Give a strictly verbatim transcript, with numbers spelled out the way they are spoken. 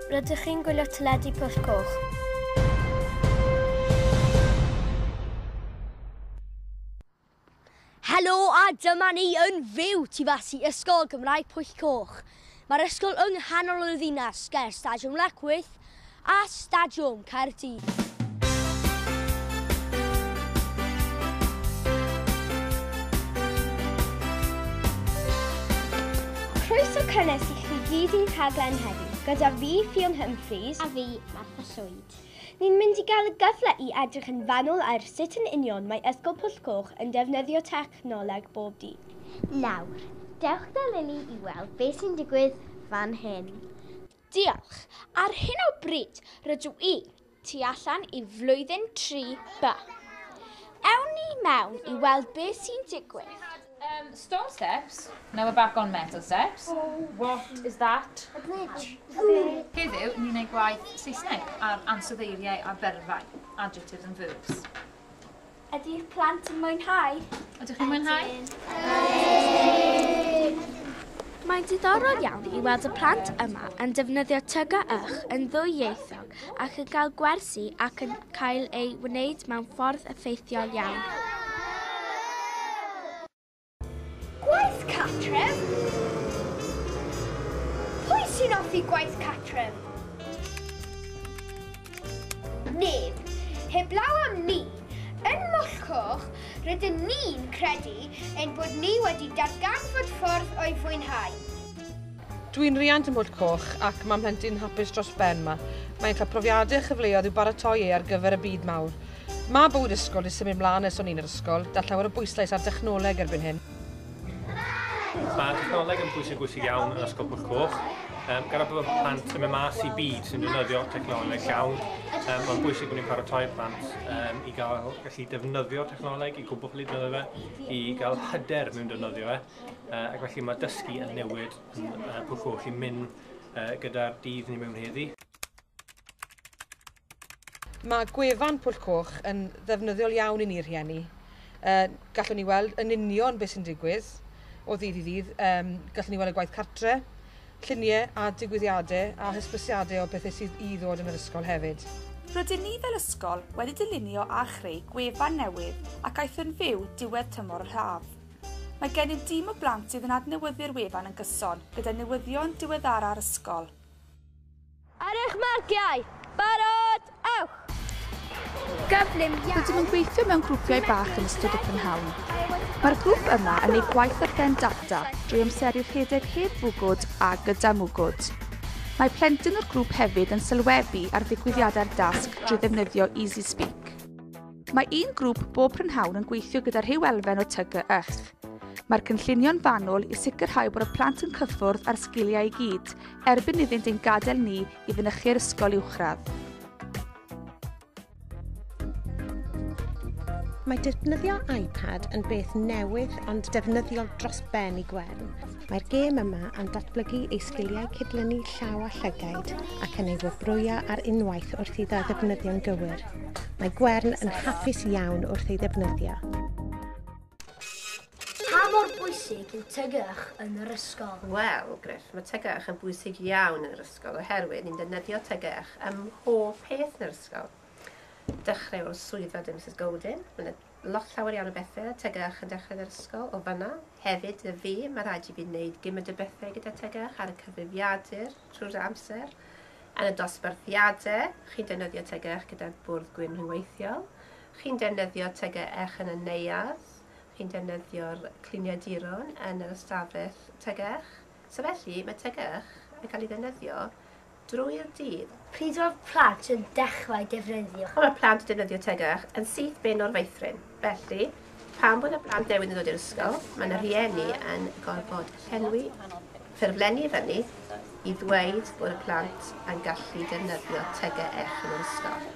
Rydych chi'n gwylio teledu Pwll Coch. Helo a dyma ni yn fyw tu fas i Ysgol Gymraeg Pwll Coch. Mae'r ysgol yng nghanol y ddinas ger Stadiwm Lecwydd a Stadiwm Caerdydd. Croeso cynnes i chi gyd i'n rhaglen heddiw, gyda fi, Ffion Humphreys, a fi, Martha Llwyd. Ni'n mynd i gael y gyfle i edrych yn fanwl ar sut yn union mae Ysgol Pwll Coch yn defnyddio technoleg bob dydd. Nawr, dewch da Lili i weld beth sy'n digwydd fan hyn. Diolch. Ar hyn o bryd, rydw i tu allan i flwyddyn tri B. Ewn ni mewn i weld beth sy'n digwydd. Um, stone steps. Now we're back on metal steps. Oh. What is that? A bridge. Heddiw, ni'n gwneud gwaith Saesneg ar ansoddeiriau a berfau, adjectives and verbs. Ydy'r plant yn mwynhau? Ydych chi'n mwynhau? Ydyn. Mae'n diddorol iawn i weld y plant yma yn defnyddio T G H yn ddwyieithog ac yn cael gwersi ac yn cael ei wneud mewn ffordd effeithiol iawn. Gwaith cartref? Pwy sy'n hoffi gwaith cartref? Neb. Heblaw am ni, yn Mwll Coch, rydyn ni'n credu ein bod ni wedi darganfod ffordd o'i fwynhau. Dwi'n riant yn Mwll Coch ac mae mhlentyn hapus dros ben yma. Mae'n cael profiadau a chyfleoedd i'w baratoi e ar gyfer y byd mawr. Mae bywyd ysgol wedi symud mlaen ers o'n i'n yr ysgol, da llawer o bwyslais ar dechnoleg erbyn hyn. Mae technoleg yn bwysig bwysig iawn yn Ysgol Pwll Coch. Um, gan bod plant yn mynd mas i byd sy'n defnyddio technoleg llawn, um, mae'n bwysig bod ni'n paratoi plant um, i gael gallu defnyddio technoleg, i gwybod gallu defnyddio fe, i gael hyder mewn defnyddio fe. Uh, ac felly mae dysgu yn newid yn uh, Pwll Coch i mynd uh, gyda'r dydd ni mewn heddi. Mae gwefan Pwll Coch yn ddefnyddiol iawn i ni'r rhieni. Uh, gallwn ni weld yn union beth sy'n digwydd o ddydd i ddydd. Um, gallwn ni weld y gwaith cartre, lluniau a digwyddiadau a hysbysiadau o bethau sydd i ddod yn yr ysgol hefyd. Rydyn ni fel ysgol wedi dylunio a chreu gwefan newydd ac aeth yn fyw diwedd tymor yr haf. Mae gennym dîm o blant sydd yn adnewyddu'r wefan yn gyson gyda newyddion diweddara'r ysgol. Ar eich marciau! Barod! Ewch! Gyflym iawn! Rydym yn gweithio mewn grwpiau bach yn ystod y prynhawn. Mae'r grŵp yma yn ei gwaith ar ben data drwy amseru rhedeg heb fwgwd a gyda mwgwd. Mae plentyn o'r grŵp hefyd yn sylwebu ar ddigwyddiadau'r dasg drwy ddefnyddio EasySpeak. Mae un grŵp bob prynhawn yn gweithio gyda rhyw elfen o T G H. Mae'r cynllunio'n fanwl i sicrhau bod y plant yn cyffwrdd â'r sgiliau i gyd erbyn iddynt ein gadael ni i fynychu'r ysgol uwchradd. Mae defnyddio iPad yn beth newydd ond defnyddiol dros ben i Gwern. Mae'r gêm yma yn datblygu ei sgiliau cydlynu llaw a llygaid ac yn ei wobrwyo ar unwaith wrth iddo ddefnyddio'n gywir. Mae Gwern yn hapus iawn wrth ei ddefnyddio. Pa mor bwysig yw T G H yn yr ysgol? Wel, Griff, mae T G H yn bwysig iawn yn yr ysgol oherwydd ni'n defnyddio T G H ym mhob peth yn yr ysgol. Dechrau o'r swyddfa dy Missus Golding. Mae yna lot llawer iawn o bethau T G H yn dechrau yn yr ysgol o fanna. Hefyd, y fi, mae rhaid i fi wneud gymaint o bethau gyda T G H ar y cyfrifiadur trwy'r amser. Yn y dosbarthiadau, chi'n defnyddio T G H gyda'r bwrdd gwyn rhyngweithiol. Chi'n defnyddio T G H yn y neuadd. Chi'n defnyddio'r cliniaduron yn yr ystafell T G H. So felly, mae T G H yn cael ei ddefnyddio drwy'r dydd. Pryd mae'r plant yn dechrau defnyddio? Mae'r plant yn defnyddio T G H yn syth bin o'r feithrin. Felly, pan bod y plant newydd yn dod i'r ysgol, mae yna rhieni yn gorfod llenwi ffurflenni fyny i ddweud bod y plant yn gallu defnyddio T G H yn yr ysgol.